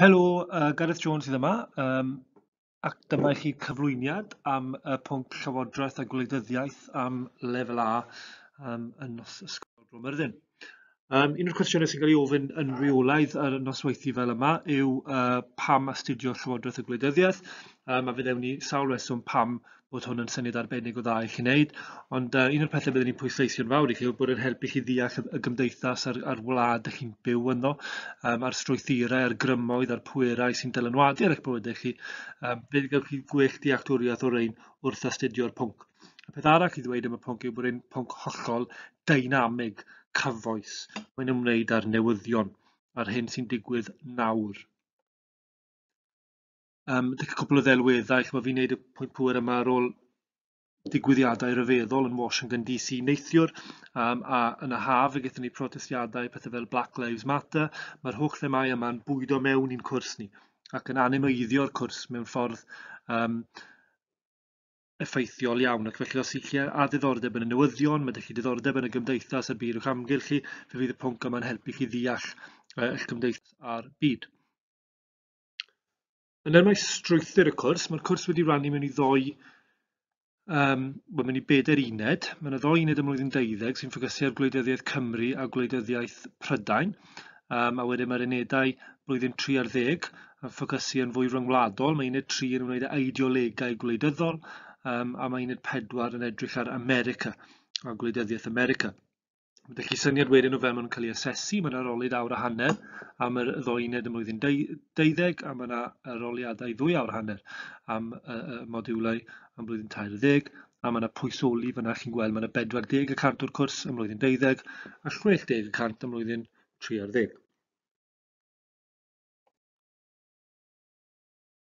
Helo, Gareth Jones sydd yma, ac dyma i chi cyflwyniad am y pwnc Llywodraeth a Gwleidyddiaeth am Lefel A yn Ysgol Bro Myrddin. Un o'r cwestiynau sy'n cael ei ofyn yn rheolaidd ar y nosweithiau fel yma yw pam astudio Llywodraeth a Gwleidyddiaeth, a fe ddewn ni sawl reswm pam bod hwn yn syniad arbennig o dda i chi wneud, ond un o'r pethau byddwn ni'n pwysleisio'n fawr i chi yw bod yn helpu chi ddeall y gymdeithas a'r wlad ych chi'n byw ynddo, a'r strwythurau, a'r grymoedd, a'r pwerau sy'n dylanwadu ar eich bywydau chi. Fe gewch chi gwell dealltwriaeth o'r rhain wrth astudio'r pwnc. Y peth arall i ddweud am y pwnc yw bod e'n pwnc hollol deinamig, cyfoes. Mae'n ymwneud â'r newyddion, a'r hyn sy'n digwydd nawr. Dyma cwpl o ddelweddau, chimod, fi'n neud y pwynt pŵer yma ar ôl digwyddiadau rhyfeddol yn Washington DC neithiwr, a yn y haf fe gaethon ni protestiadau, pethau fel Black Lives Matter. Mae'r holl themâu yma'n bwydo mewn i'n cwrs ni ac yn animeiddio'r cwrs mewn ffordd effeithiol iawn. Ac felly os ych chi â diddordeb yn y newyddion, mae 'da chi diddordeb yn y gymdeithas a'r byd o'ch amgylch chi, fe fydd y pwnc yma'n helpu chi ddeall eich cymdeithas a'r byd. Yn nhermau strwythur y cwrs, mae'r cwrs wedi rannu mewn i ddou, wel, mewn i bedair uned. Mae yna ddou uned ym mlwyddyn 12 sy'n ffocysu ar gwleidyddiaeth Cymru a gwleidyddiaeth Prydain. A wedyn mae'r unedau blwyddyn 3 ar ddeg yn ffocysu yn fwy ryngwladol. Mae uned 3 yn ymwneud â ideolegau gwleidyddol, a mae uned 4 yn edrych ar America a gwleidyddiaeth America. Mae 'da chi syniad wedyn o fel maen nhw'n cael ei asesu. Mae yna arolyd awr a hanner am yr ddou uned ym mlwyddyn 12, a mae yna aroliadau 2 awr a hanner am y modiwlau am blwyddyn 13, a mae yna pwysoli fyna chi'n gweld mae yna 40% o'r cwrs ym mlwyddyn 12 a 60% ym mlwyddyn 13.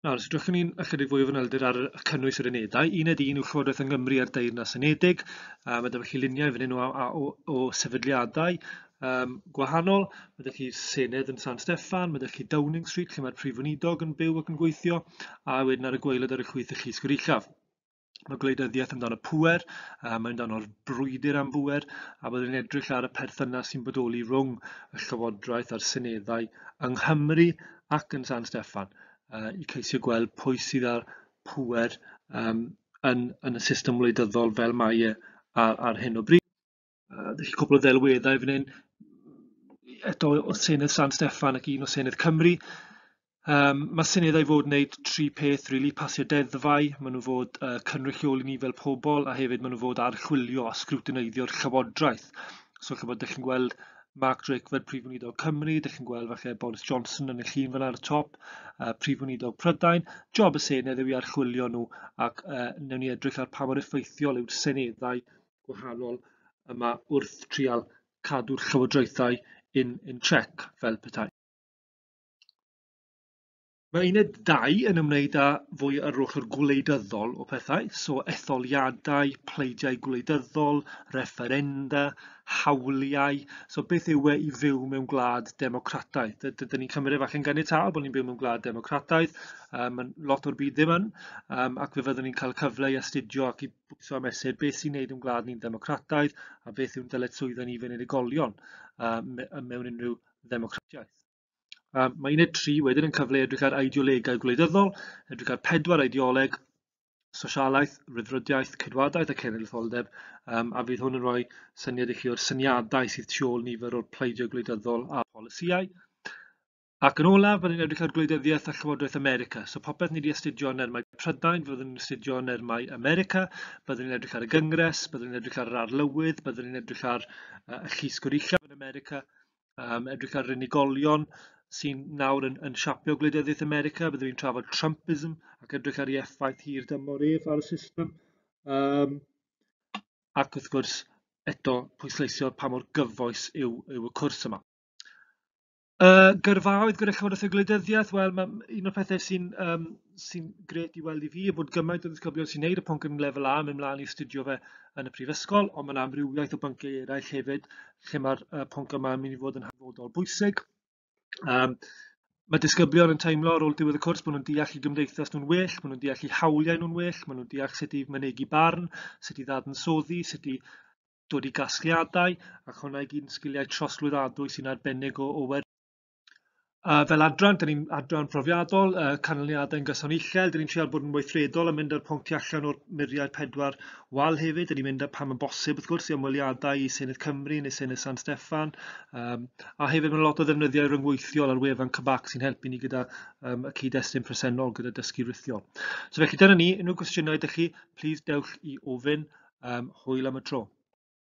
Nawr, os edrychwn ni'n ychydig fwy o fanylder ar y cynnwys yr unedau, uned 1 yw Llywodraeth yng Nghymru a'r Deyrnas Unedig. Mae 'da chi luniau fan hyn o sefydliadau gwahanol. Mae 'da chi Senedd yn San Steffan, mae 'da chi Downing Street lle mae'r Prif Weinidog yn byw ac yn gweithio, a wedyn ar y gwaelod ar y chwith y Llys Goruchaf. Mae gwleidyddiaeth amdano pŵer, mae amdano'r brwydr am bŵer, a byddwn ni'n edrych ar y perthynas sy'n bodoli rhwng y llywodraeth a'r seneddau yng Nghymru ac yn San Steffan, i ceisio gweld pwy sydd â'r pŵer yn y system wleidyddol fel mae e ar hyn o bryd. Felly cwpl o ddelweddau fan hyn, eto o Senedd San Steffan ac un o Senedd Cymru. Mae seneddau fod yn gwneud tri peth, really, pasio deddfau, maen nhw fod cynrychioli ni fel pobl, a hefyd maen nhw fod archwilio a sgrwtineiddio'r llywodraeth. So chibod, dych chi'n gweld Mark Drakeford, Prif Weinidog Cymru, dych chi'n gweld falle Boris Johnson yn y llun fan ar y top, Prif Weinidog Prydain. Job y Senedd yw i archwilio nhw, ac wnawn ni edrych ar pa mor effeithiol yw'r seneddau gwahanol yma wrth trial cadw'r llywodraethau in check fel petai. Mae uned 2 yn ymwneud â fwy ar ochr gwleidyddol o pethau, so etholiadau, pleidiau gwleidyddol, refferenda, hawliau. So beth yw e i fyw mewn gwlad democrataidd? Dyn ni'n cymryd e falle'n ganiataol bod ni'n byw mewn gwlad democrataidd, mae lot o'r byd ddim yn, ac fe fyddwn ni'n cael cyfle i astudio ac i bwyso a mesur beth sy'n neud yn gwlad ni'n ddemocrataidd a beth yw'n dyletswyddau ni fel unigolion mewn unrhyw ddemocratiaeth. Mae uned 3 wedyn yn cyfle edrych ar ideolegau gwleidyddol, edrych ar 4 ideoleg, sosialaeth, rhyddfrydiaeth, ceidwadaeth a cenedlaetholdeb, a fydd hwn yn rhoi syniad i chi o'r syniadau sydd tu ôl nifer o'r pleidiau gwleidyddol a polisïau. Ac yn olaf, byddwn ni'n edrych ar gwleidyddiaeth a Llywodraeth America. So popeth ni wedi astudio yn nermau Prydain, fyddwn ni'n astudio yn nermau America, byddwn ni'n edrych ar y Gyngres, byddwn ni'n edrych ar yr Arlywydd, byddwn ni'n edrych ar y Llys Goruchaf yn America, edrych ar yr unigolion sy'n nawr yn siapio gwleidyddiaeth America, byddwn ni'n trafod Trumpism ac edrych ar ei effaith hir dymor ef ar y system. Ac wrth gwrs, eto pwysleisio pa mor gyfoes yw y cwrs yma. Gyrfaoedd gyda Llywodraeth y Gwleidyddiaeth, wel, mae un o'r pethau sy'n grêt i weld i fi yw bod gymaint o ddisgyblion sy'n neud y pwnc yn lefel A yn mynd mlaen i astudio fe yn y prifysgol, ond mae yna amrywiaeth o bynciau eraill hefyd lle mae'r pwnc yma yn mynd i fod yn hanfodol bwysig. Mae disgyblion yn teimlo ar ôl diwedd y cwrs bod nhw'n deall eu gymdeithas nhw'n well, maen nhw'n deall eu hawliau nhw'n well, maen nhw'n deall sut i mynegi barn, sut i ddadansoddi, sut i dod i gasgliadau, ac hwnna i gyd yn sgiliau trosglwyddadwy sy'n arbennig o werth. Fel adran, dyn ni'n adran profiadol, canlyniadau'n gyson uchel, dyn ni'n trial bod yn weithredol a mynd â'r pwnc tu allan o'r muriau pedwar wal hefyd. Dyn ni'n mynd pan mae'n bosib, wrth gwrs, i ymweliadau i Senedd Cymru neu Senedd San Steffan. A hefyd mae lot o ddefnyddiau rhyngweithiol ar wefan CBAC sy'n helpu ni gyda y cyd-destun presennol gyda dysgu rhithiol. So felly dyna ni, unrhyw gwestiynau ydych chi, please dewch i ofyn. Hwyl am y tro.